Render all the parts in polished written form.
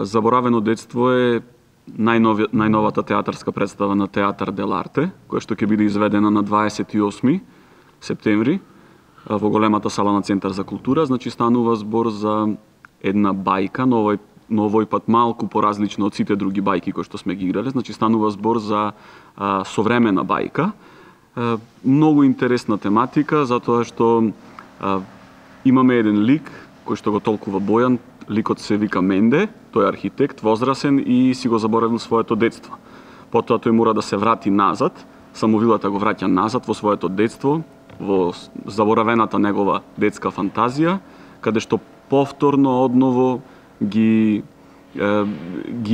Заборавено детство е најновата театарска представа на Театар Дел Арте, која што ќе биде изведена на 28 септември во големата сала на Центар за култура. Значи станува збор за една бајка, но овој пат малку поразлично од сите други бајки кои што сме ги играле. Значи станува збор за современа бајка. Многу интересна тематика, затоа што имаме еден лик кој што го толкува Бојан. Ликот се вика Менде, тој е архитект, возрасен и си го заборавил своето детство. Потоа тој мора да се врати назад, самовилата го враќа назад во своето детство, во заборавената негова детска фантазија, каде што повторно одново ги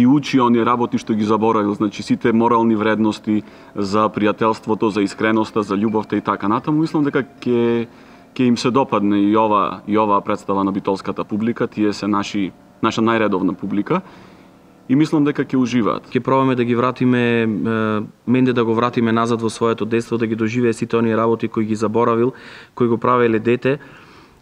учи оние работи што ги заборавил, значи сите морални вредности за пријателството, за искреноста, за љубовта и така натаму. Мислам дека ќе им се допадне и ова представа на битолската публика, тие се наша најредовна публика и мислам дека ќе уживаат. Ќе пробаме да ги вратиме Менде, да го вратиме назад во своето детство, да ги доживее сите оние работи кои ги заборавил, кои го правеле дете.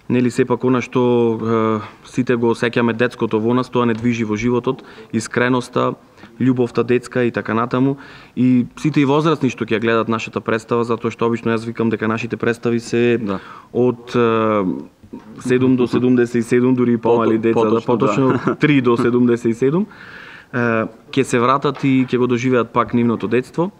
Нели сепак она што сите го осеќаме детското во нас, тоа не движи во животот, искреноста, љубовта детска и така натаму. И сите и возрастни што ќе гледат нашата представа, затоа што обично јас викам дека нашите представи се од 7 до 77, дури и помали деца, поточно 3 до 77, ќе се вратат и ќе го доживеат пак нивното детство.